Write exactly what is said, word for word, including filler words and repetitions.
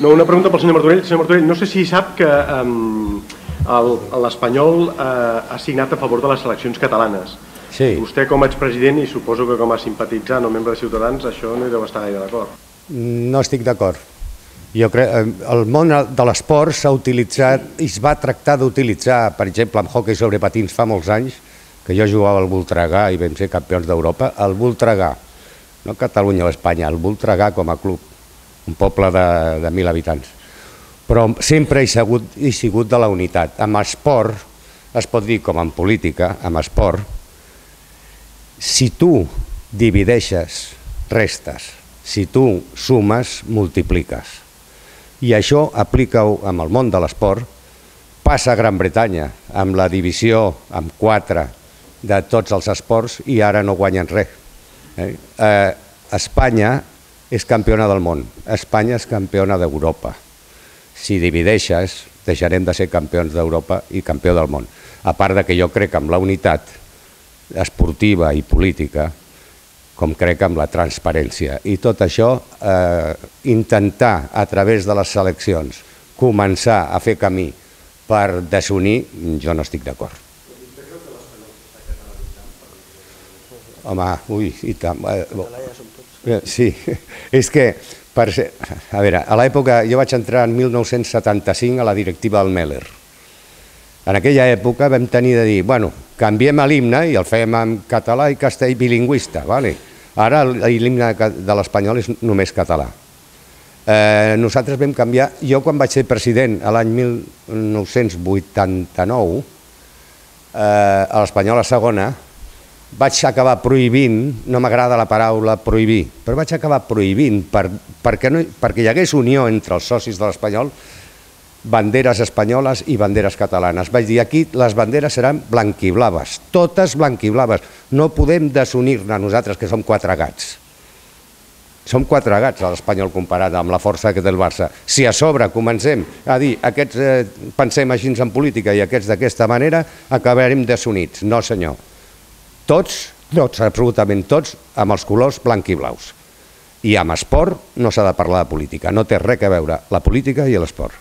No, una pregunta pel senyor Martorell. Senyor Martorell, no sé si sap que l'Espanyol ha signat a favor de les seleccions catalanes. Sí. Vostè com a expresident i suposo que com a simpatitzant o membre de Ciutadans això no hi deu estar gaire d'acord. No estic d'acord. Jo crec el món de l'esport s'ha utilitzat i es va tractar d'utilitzar, per exemple, en hoquei sobre patins fa molts anys, que jo jugava al Voltregà i vam ser campions d'Europa, el Voltregà, no Catalunya o Espanya, el Voltregà com a club, un poble de mil habitants. Però sempre he sigut de la unitat. Amb esport, es pot dir com en política, amb esport, si tu divideixes, restes, si tu sumes, multipliques. I això aplica-ho amb el món de l'esport, passa a Gran Bretanya, amb la divisió amb quatre de tots els esports i ara no guanyen res. Espanya és campiona del món, Espanya és campiona d'Europa. Si divideixes, deixarem de ser campions d'Europa i campió del món. A part que jo crec amb la unitat esportiva i política, com crec amb la transparència. I tot això, intentar a través de les seleccions començar a fer camí per desunir, jo no estic d'acord. Home, ui, i tant. Sí, és que, a veure, a l'època, jo vaig entrar en mil nou-cents setanta-cinc a la directiva del Meller. En aquella època vam tenir de dir, bueno, canviem l'himne i el fem en català i castellà bilingüista, vale? Ara l'himne de l'espanyol és només català. Nosaltres vam canviar, jo quan vaig ser president l'any mil nou-cents vuitanta-nou, a l'Espanyol a segona, vaig acabar prohibint, no m'agrada la paraula prohibir, però vaig acabar prohibint perquè hi hagués unió entre els socis de l'Espanyol, banderes espanyoles i banderes catalanes. Vaig dir, aquí les banderes seran blanquiblaves, totes blanquiblaves. No podem desunir-ne nosaltres, que som quatre gats. Som quatre gats a l'Espanyol comparat amb la força que té el Barça. Si a sobre comencem a dir, aquests pensem així en política i aquests d'aquesta manera, acabarem desunits. No, senyor. Tots, tots, absolutament tots, amb els colors blanquiblaus. I amb esport no s'ha de parlar de política. No té res a veure la política i l'esport.